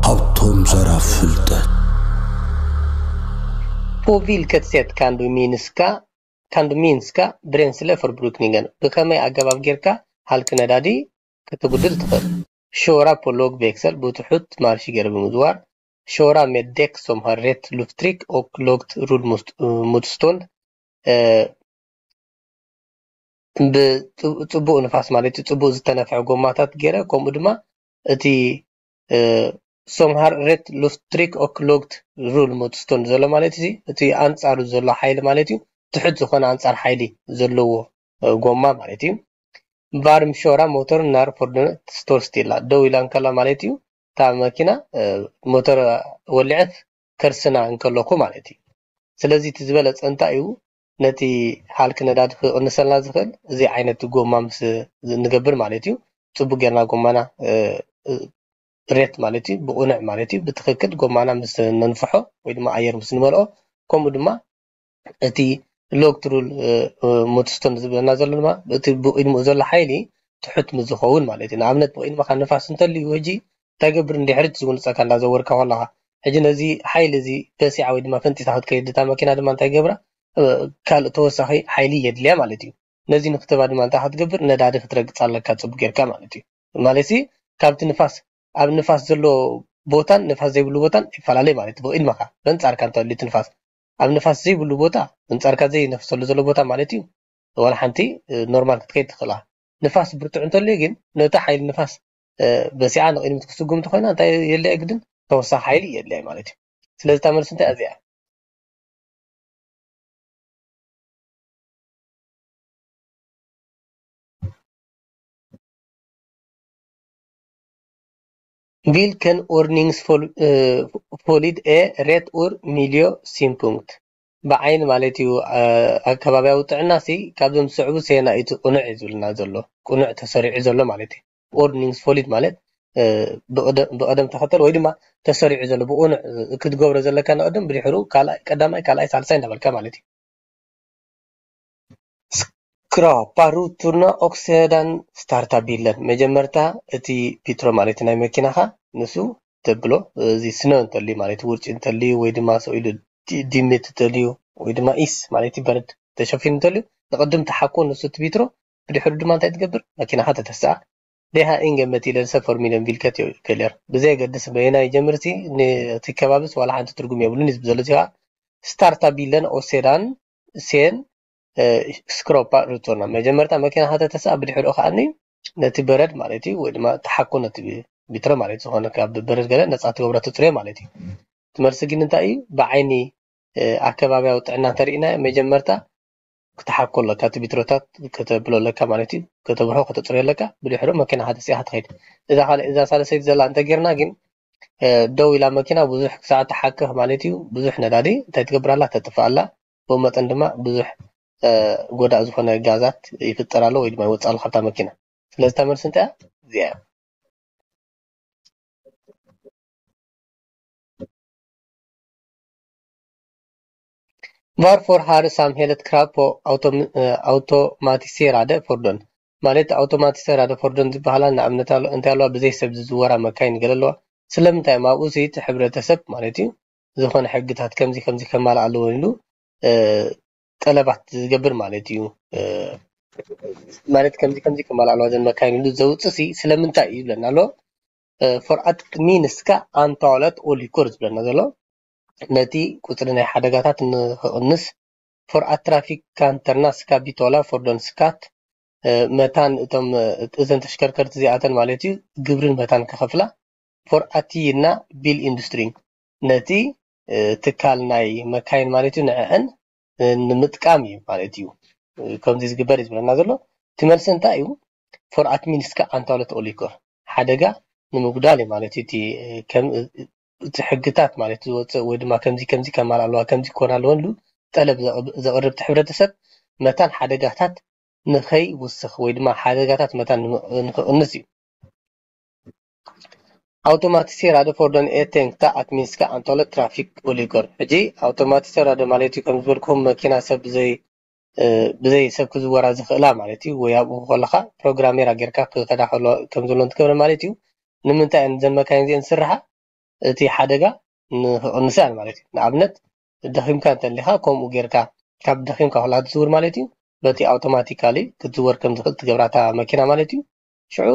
ሃብቶም ዘራፍ ፍልጠት። På vilket sätt kan du minska, kan du minska bränslebrukningen? ብኸመይ ኣገባብ ጌርካ ሃልኪ ነዳዲ ክትጉድል ትኽእል? Köra på låg växel፣ ብትሑት ማርሽ ገይረ ብምዝዋር። Köra med däck som har rätt lufttryck och lågt rullmotstånd። ብፅቡቅ ንፋስ ማለት እዩ፣ ፅቡቅ ዝተነፍሐ ጎማታት ገይረ፣ ከምኡ ድማ እቲ som har rätt lufttryck och lågt rullmotstånd ዘሎ ማለት እዩ፣ እቲ ኣንፃሩ ዘሎ ሓይሊ ማለት እዩ፣ ትሑት ዝኾነ ኣንፃር ሓይሊ ዘለዎ ጎማ ማለት እዩ። Varm köra motorn när fordonet står stilla፣ ደው ኢላ እንከላ ማለት እዩ፣ እታ መኪና ሞተር ወሊዐት ከርስና እንከለኹ ማለት እዩ። ስለዚ እቲ ዝበለፀ እንታይ እዩ? ነቲ ሃልኪ ነዳዲ ክቕንሰልና ዝኽእል እዚ ዓይነት ጎማ ምስ ንገብር ማለት እዩ። ፅቡቅ ጌርና ጎማና ሬት ማለት እዩ፣ ብቕኑዕ ማለት እዩ፣ ብትኽክል ጎማና ምስ ነንፍሖ ወይ ድማ ኣየር ምስ ንመልኦ፣ ከምኡ ድማ እቲ lågt rullmotstånd ዝብለና ዘሎ ድማ እቲ ብቕድሚኡ ዘሎ ሓይሊ ትሑት ምስ ዝኸውን ማለት እዩ። ንኣብነት ብቕድመኻ ንፋስ እንተልዩ ሕጂ እንታይ ገብር? እንድሕሪ ዝጉንፀካ እንዳዘወርካ ከለኻ ሕጂ ነዚ ሓይሊ እዚ በሲዓ ወይ ድማ ፈንጢሳ ክትከይድ እታ መኪና ድማ እንታይ ገብራ? ካልእ ተወሳኺ ሓይሊ የድልያ ማለት እዩ። ነዚ ንክትባ ድማ እንታይ ክትገብር? ነዳዲ ክትረግፅ ኣለካ ፅቡቅ ጌርካ ማለት እዩ። ማለት ካብቲ ንፋስ ኣብ ንፋስ ዘሎ ቦታን ንፋስ ዘይብሉ ቦታን ይፈላለ ማለት እዩ። ብቕድመኻ በንፃርካ እንተልዩ እቲ ንፋስ ኣብ ንፋስ ዘይብሉ ቦታ፣ በንፃርካ ዘይነፍሰሉ ዘሎ ቦታ ማለት እዩ፣ ዋላ ሓንቲ ኖርማል ክትከይድ ትኽእላ። ንፋስ ብርቱዕ እንተልዩ ግን ነቲ ሓይሊ ንፋስ በሲዓ ንቕድሚት ክስጉም እንተኮይና እንታይ የድልያ ግድን ተወሳኺ ሓይሊ የድልያ ማለት እዩ። ስለዚ እታ መልሲ እንታይ እዚኣ? Vilken ordningsföljd är rätt ur miljösynpunkt? ብዓይኒ ማለት እዩ ኣከባቢያዊ ጥዕና ሲ ካብዞም ዝስዕቡ ሰየናይ እቲ ቅኑዕ እዩ ዝብልና ዘሎ፣ ቅኑዕ ተሰሪዑ ዘሎ ማለት እዩ። Ordningsföljd ማለት ብቐደም ተኸተል ወይ ድማ ተሰሪዑ ዘሎ ብቕኑዕ ክትገብሮ ዘለካ ንቐደም ብድሕሩ ካልኣይ ቀዳማይ ካልኣይ ሳልሳይ እንዳበልካ ማለት እዩ። Skrapa rutorna och sedan starta bilen። መጀመርታ እቲ ቢትሮ ማለት ናይ መኪናኻ ንሱ ተብሎ፣ እዚ ስነ እንተልዩ ማለት ውርጪ እንተልዩ ወይ ድማ ሰው ኢሉ ዲምት እንተልዩ ወይ ድማ ኢስ ማለት በረድ ተሸፊኑ እንተልዩ ንቕድም ተሓኮ ንሱ እቲ ቢትሮ ብድሕሩ ድማ እንታይ ትገብር? መኪናኻ ተተስኣ። Det har ingen betydelse för miljön vilket jag väljer። ብዘየገድስ በየናይ ይጀምር እቲ ከባቢስ ዋላ ሓንቲ ትርጉም የብሉን እዩ ዘሎ። እዚኣ starta bilen och sedan sen skrapa rutorna። መጀመርታ መኪና ከተተስኣ ብድሕሪኡ ከዓኒ ነቲ በረድ ማለት እዩ ወይ ድማ ተሓኮ ነቲ ቢትሮ ማለት ዝኾነ ካብ በረድ ገለ ነፃ ትገብሮ ትፅርዮ ማለት እዩ። ትመልሲ ግን እንታይ እዩ? ብዓይኒ ኣከባቢያዊ ጥዕና እንተሪእና መጀመርታ ክትሓኮ ኣለካ፣ እቲ ቢትሮታት ከተብሎ ኣለካ ማለት እዩ። ከተብርሆ ከተፅርዮ ኣለካ። ብድሕሩ መኪና ከተስያ ክትኸይድ። እዛ ካልእ እዛ ሳለሰይቲ ዘላ እንተጌርና ግን ደው ኢላ መኪና ብዙሕ ክሳዕ ትሓክኽ ማለት እዩ። ብዙሕ ነዳዲ እንታይ ትገብር ኣላ? ተጥፍእ ኣላ። ብኡ መጠን ድማ ብዙሕ ጎዳእ ዝኾነ ጋዛት ይፍጠር ኣሎ ወይ ድማ ይወፅእ ኣሎ ካብታ መኪና። ስለዚ እታ መልሲ እንታይ እያ? እዚኣ እያ። Varför har samhället krav på automatiserade fordon? ማለት ኣውቶማቲዘራደ ፎርዶን ዝበሃላ ንኣብነት እንታይ ኣለዋ? ብዘይ ሰብ ዝዝወራ መካይን ገለ ኣለዋ። ስለምንታይ እዮም ኣብኡ እቲ ሕብረተሰብ ማለት እዩ ዝኾነ ሕግታት ከምዚ ከምዚ ከማልእ ኣለዎ ኢሉ ጠለባት ዝገብር ማለት እዩ። ማለት ከምዚ ከምዚ ከማልእ ኣለዋ ዘን መካይን ኢሉ ዘውፅእ ሲ ስለምንታይ እዩ ይብለና ኣሎ። För att minska antalet olyckor ዝብለና ዘሎ ነቲ ቁፅሪ ናይ ሓደጋታት ንክቕንስ። För att trafikanterna ska betala fordonsskatt፣ መታን እቶም እዘን ተሽከርከርቲ እዚኣተን ማለት እዩ ግብርን መታን ክኸፍላ። För att gynna bilindustrin፣ ነቲ ትካል ናይ መካይን ማለት እዩ ንዕዐን ንምጥቃም እዩ ማለት እዩ ከምዚ ዝግበር እዩ ዝብለና ዘሎ። እቲ መልሲ እንታይ እዩ? För att minska antalet olyckor፣ ሓደጋ ንምጉዳል እዩ ማለት እዩ። እቲ ሕግታት ማለት ዝወፅእ ወይ ድማ ከምዚ ከምዚ ከማል ኣለዋ ከምዚ ክኾን ኣለወን ኢሉ ጠለብ ዘቕርብ እቲ ሕብረተሰብ መታን ሓደጋታት ንኸይውስኽ ወይ ድማ ሓደጋታት መታን ንኽቕንስ እዩ። Automatiserade fordon är tänkta att minska antalet trafikolyckor። ሕጂ ኣውቶማቲዘራደ ማለት እዩ ከም ዝበልኩም መኪና ሰብ ዘይ ብዘይ ሰብ ክዝወራ ዝኽእላ ማለት እዩ። ወይ ኣብኡ ከለኻ ፕሮግራሜራ ጌርካ ክኸዳ ከም ዘሎ እንትገብረ ማለት እዩ። ንምንታይ እየን እዘን መካይን እዚአን ዝስርሓ? እቲ ሓደጋ ንክቕንሳ ማለት እዩ። ንኣብነት ደኺምካ እንተሊኻ ከምኡ ጌርካ ካብ ደኺምካ ከላ ትዝውር ማለት እዩ። በቲ ኣውቶማቲካሊ ክትዝወር ከም ዝኽእል ትገብራታ መኪና ማለት እዩ። ሽዑ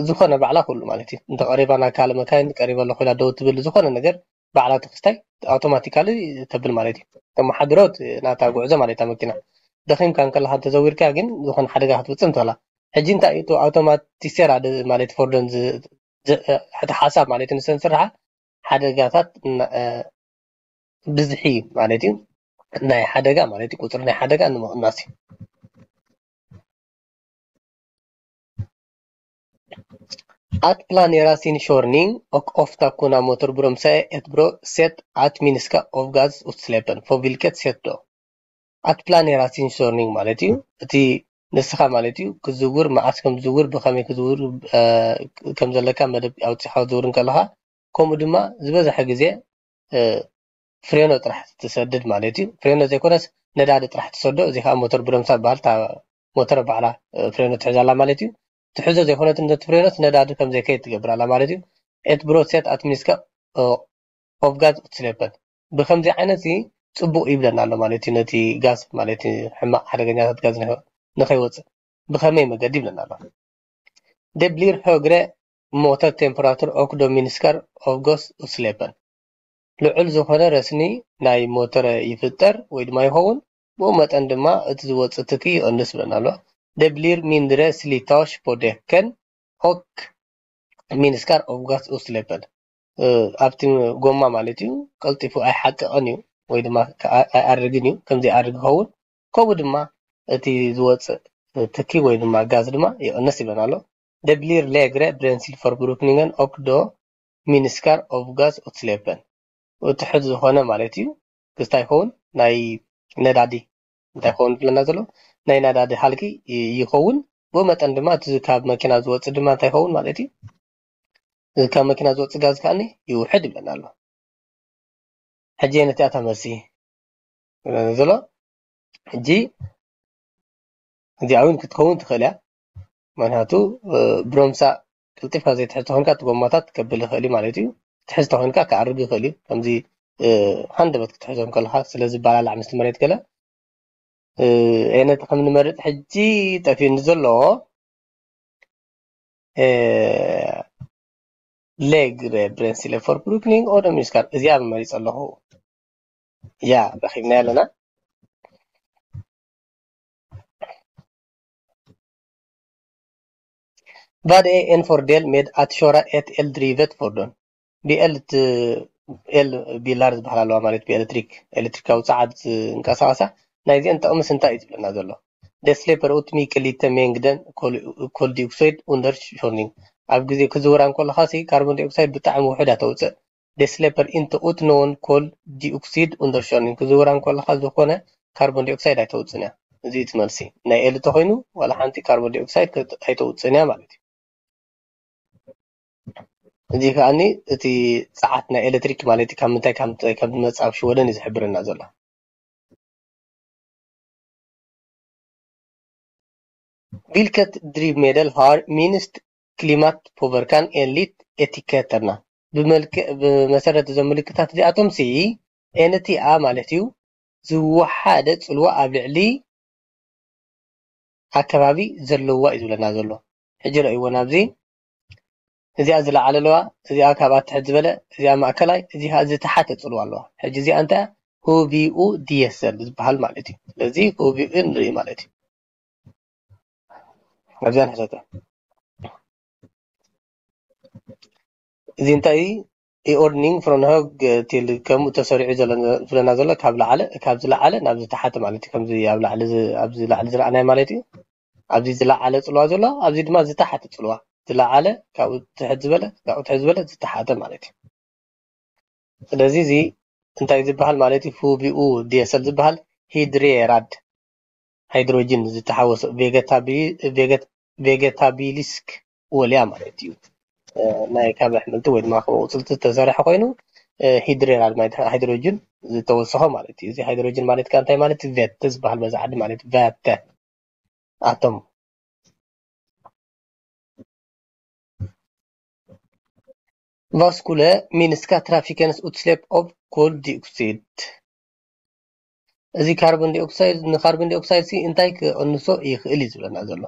ዝኾነ ባዕላ ኩሉ ማለት እዩ። እንተ ቀሪባ ናብ ካልእ መካይን ቀሪበ ኣለኹ ኢላ ደው ትብል ዝኾነ ነገር ባዕላ ተክስታይ ኣውቶማቲካሊ ተብል ማለት እዩ። ተመሓድሮት ናታ ጉዕዞ ማለት እታ መኪና ደኺምካ እንከለኻ እንተዘዊርካ ግን ዝኾነ ሓደጋ ክትፍጽም ትኽእላ። ሕጂ እንታይ እዩ ኣውቶማቲሴራ ማለት ፎርዶን እቲ ሓሳብ ማለት ንሰን ስርሓ ሓደጋታት ብዝሒ ማለት እዩ ናይ ሓደጋ ማለት እዩ ቁፅሪ ናይ ሓደጋ ንምቕናስ እዩ። At planera sin körning och ofta kunna motorbromsa ett bra sätt att minska avgasutsläppen. På vilket sätt då? At planera sin körning ማለት እዩ እቲ ንስኻ ማለት እዩ ክዝውር መዓስ ከም ዝዝውር ብኸመይ ክዝውር ከም ዘለካ መደብ ኣውፂኻ ዝውር እንከለኻ ከምኡ ድማ ዝበዝሐ ግዜ ፍሬኖ ጥራሕ ትሰድድ ማለት እዩ። ፍሬኖ ዘይኮነስ ነዳዲ ጥራሕ ትሰዶ። እዚ ከዓ ሞተር ብረምሳ በሃል ሞተር ባዕላ ፍሬኖ ትሕዛላ ማለት እዩ። ትሕዞ ዘይኮነት ነቲ ፍሬኖስ ነዳዲ ከም ዘይከይድ ትገብር ኣላ ማለት እዩ። ኤት ብሮት ሴት ኣትሚኒስካ ኦፍ ጋዝ ኡትስሌፐን ብከምዚ ዓይነት እዚ ፅቡቅ ይብለና ኣሎ ማለት እዩ። ነቲ ጋዝ ማለት ሕማቅ ሓደገኛታት ጋዝ ንኸይወፅእ ብከመይ መገዲ ይብለና ኣሎ። Det blir högre motortemperatur och då minskar avgasutsläppen. ልዑል ዝኾነ ረስኒ ናይ ሞተር ይፍጠር ወይ ድማ ይኸውን፣ ብኡ መጠን ድማ እቲ ዝወፅእ ትኪ ይቕንስ ብለና ኣሎ። Det blir mindre slitage på däcken och minskar avgasutsläppen. ኣብቲ ጎማ ማለት እዩ ቀልጢፉ ኣይሓቅቕን እዩ ወይ ድማ ኣይኣርግን እዩ። ከምዚ ይኣርግ ይኸውን። ከምኡ ድማ እቲ ዝወፅእ ትኪ ወይ ድማ ጋዝ ድማ ይቕንስ ይብለና ኣሎ። Det blir lägre bränslebrukningen och då minskar avgasutsläppen. ትሕት ዝኾነ ማለት እዩ ክስታይ ይኸውን ናይ ነዳዲ እንታይ ይኸውን ዝብለና ዘሎ ናይ ነዳዲ ሃልኪ ይኸውን። ብኡ መጠን ድማ እቲ ካብ መኪና ዝወፅእ ድማ እንታይ ይኸውን ማለት እዩ። ካብ መኪና ዝወፅእ ጋዝ ከዓኒ ይውሕድ ይብለና ኣሎ። ሕጂ ነቲኣታ መልሲ ዘሎ ሕጂ እዚኣ እውን ክትከውን ትኽእል እያ። ምክንያቱ ብሮምሳ ቅልጢፍካ ዘይትሕዝ ተኮንካ እቲ ጎማታት ከብል ይኽእል እዩ ማለት እዩ። ትሕዝ ተኮንካ ክኣርግ ይኽእል እዩ። ከምዚ ሃንደበት ክትሕዞም ከለካ ስለዝባላላዕ ምስቲ መሬት ገለ ነቲ ከም ንመርጥ ሕጂ ጠፊኡኒ ዘሎ ሌግ ብሬንስሌ ፎር ብሩክኒንግ ኦደሚስካር እዚኣ መሪፅ ኣለኹ። ያ ረኪብና ኣለና። Vad är en fördel med att köra ett eldrivet fordon? ብኤል ት- ኤል ቢላር ዝበሃል ኣለዋ ማለት ብኤሌክትሪክ ኤሌክትሪካዊ ፀዓት ዝንቀሳቐሳ ናይዚአን ጥቕምስ እንታይ እዩ ዝብለና ዘሎ? Det släpper ut mycket lite mängden kol- koldioxid under körning. ኣብ ግዜ ክዝውራ እንከለኻ ሲ ካርቦን ዳይኦክሳይድ ብጣዕሚ ውሑድ እያ ተውፅእ። Det släpper inte ut någon koldioxid under körning. ክዝውራ እንከለኻ ዝኾነ ካርቦን ዳይኦክሳይድ ኣይተውፅን እያ። እዚ እቲ መልሲ ናይ ኤል ተኮይኑ ዋላ ሓንቲ ካርቦን ዳይኦክሳይድ ኣይተውፅን እያ ማለት እዩ። እዚ ከዓኒ እቲ ፀዓት ናይ ኤሌክትሪክ ማለት እዩ ካብ ምንታይ ካብ ምንታይ ከም ዝመፅእ ኣብ ሽወደን እዩ ዝሕብረና ዘሎ። Vilket drivmedel har minst klimatpåverkan enligt etiketterna? ብመልክዕ ብመሰረት እዞም ምልክታት እዚኣቶም ሲ ኤንቲኣ ማለት እዩ ዝወሓደ ፅልዋ ኣብ ልዕሊ ኣከባቢ ዘለዋ እዩ ዝብለና ዘሎ። ሕጂ ረእይዎ ናብዚ እዚኣ ዝለዓለ ኣለዋ፣ እዚኣ ካብኣ ትሕት ዝበለ፣ እዚኣ ማእከላይ፣ እዚ ከዓ ዝተሓተ ፅልዋ ኣለዋ። ሕጂ እዚኣ እንታይ ሆቪኡ ዲየሰል ዝበሃል ማለት እዩ። ስለዚ ሆቪኡ ንርኢ ማለት እዩ። ኣብዚኣ ንሕተተ እዚ እንታይ ኢኦርኒንግ ፍሮን ሆግ ቲል ከምኡ ተሰሪዑ ዝብለና ዘሎ ካብ ላዕለ ካብ ዝለዓለ ናብ ዝተሓተ ማለት እዩ። ከምዚ ኣብ ላዕሊ ኣብዚ ላዕሊ ዝረኣናዮ ማለት እዩ። ኣብዚ ዝለዓለ ፅልዋ ዘሎ ኣብዚ ድማ ዝተሓተ ፅልዋ ዝለዓለ ካብኡ ትሕት ዝበለ ካብኡ ትሕት ዝበለ ዝተሓተ ማለት እዩ። ስለዚ እዚ እንታይ ዝበሃል ማለት እዩ? ፉቪኡ ዲየሰል ዝበሃል ሂድሬራድ ሃይድሮጅን ዝተሓወሶ ቬገታቢሊስክ ወልያ ማለት እዩ። ናይ ካብ ኣሕምልቲ ወይ ድማ ካብ ኣቑፅልቲ ዝተሰርሐ ኮይኑ እ፣ ሂድሬን ማለት ሃይድሮጅን ዝተወሰኾ ማለት እዩ። እዚ ሃይድሮጅን ማለት ከኣ እንታይ ማለት እዩ? ቬተ ዝበሃል በዛ ዓዲ ማለት እዩ። ቬተ ኣቶም። Vad skulle minska trafikens utsläpp av koldioxid? እዚ ካርቦን ዲኦክሳይድ፣ ንካርቦን ዲኦክሳይድ ሲ እንታይ ክቕንሶ ይኽእል እዩ ዝብለና ዘሎ።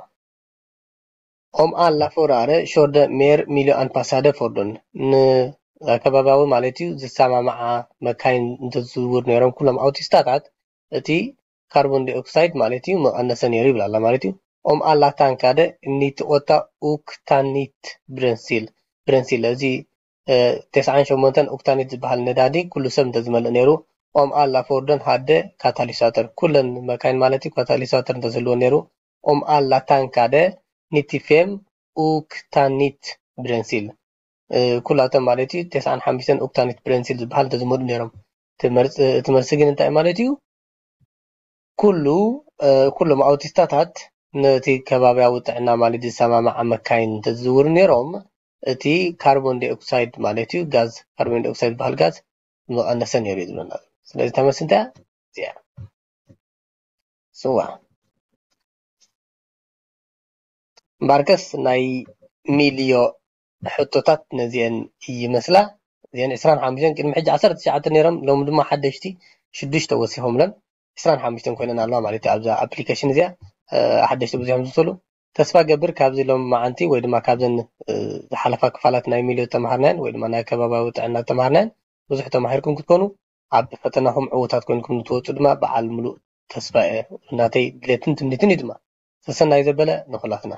Om alla förare körde mer miljöanpassade fordon፣ ንኣከባቢያዊ ማለት እዩ ዝሰማማዓ መካይን እንተዝዝውር ነይሮም ኩሎም ኣውቲስታታት፣ እቲ ካርቦን ዲኦክሳይድ ማለት እዩ መቐነሰ ነይሩ ይብል ኣላ ማለት እዩ። Om alla tankade nittioåtta oktanit bränsle፣ bränsle፣ እዚ እ፣ ተስዓን ሸሞንተን ኦክታኒት ዝበሃል ነዳዲ ኩሉ ሰብ እንተዝመልእ ነይሩ። Om alla fordon hade katalysator፣ ኩለን መካይን ማለት እዩ ካታሊሳተር እንተዝህልወን ነይሩ። Om alla tankade nittiofem oktanit bränsle፣ እ፣ ኩላቶም ማለት እዩ ተስዓን ሓሙሽተን ኦክታኒት ብረንሲል ዝበሃል እንተዝመልኡ ነይሮም። እቲ መርፅ-፣ እቲ መልሲ ግን እንታይ ማለት እዩ? ኩሉ፣ እ፣ ኩሎም ኣውቲስታታት ነቲ ከባቢያዊ ጥዕና ማለት ዝሰማማዓ መካይን እንተዝዝውሩ ነይሮም፣ እቲ ካርቦን ዲኦክሳይድ ማለት እዩ፣ ጋዝ፣ ካርቦን ዲኦክሳይድ ዝበሃል ጋዝ ምቐነሰ ነይሩ እዩ ዝብለና። ስለዚ እታ መልሲ እንታይ እያ? እዚኣ። ስዋ። እምበኣርከስ ናይ ሚልዮ ሕቶታት ነዚአን ይመስላ። እዚአን ዕስራን ሓሙሽተን፣ ቅድሚ ሕጂ ዓሰርተ ትሽዓተ ነይሮም፣ ሎሚ ድማ ሓደሽቲ ሽዱሽተ ወሲኾምለን። ዕስራን ሓሙሽተን ኮይነን ኣለዋ ማለት እዩ። ኣብዛ ኣፕሊኬሽን እዚኣ፣ እ፣ ሓደሽቲ ብዙሕ ዝውሰሉ። ተስፋ ገብር ካብዚ ሎም መዓንቲ ወይ ድማ ካብዘን፣ እ፣ ዝሓለፋ ክፋላት ናይ ሚልዮ ተማሃርናየን ወይ ድማ ናይ ከባቢያዊ ጥዕና ተማሃርናየን ብዙሕ ተማሂርኩም ክትኮኑ፣ ኣብ ፈተናኹም ዕዉታት ኮይንኩም ንትወፁ ድማ በዓል ምሉእ ተስፋ እየ። ናተይ ድሌትን ትምኒትን እዩ ድማ። ሰሰናዩ ዘበለ ንኹላትና።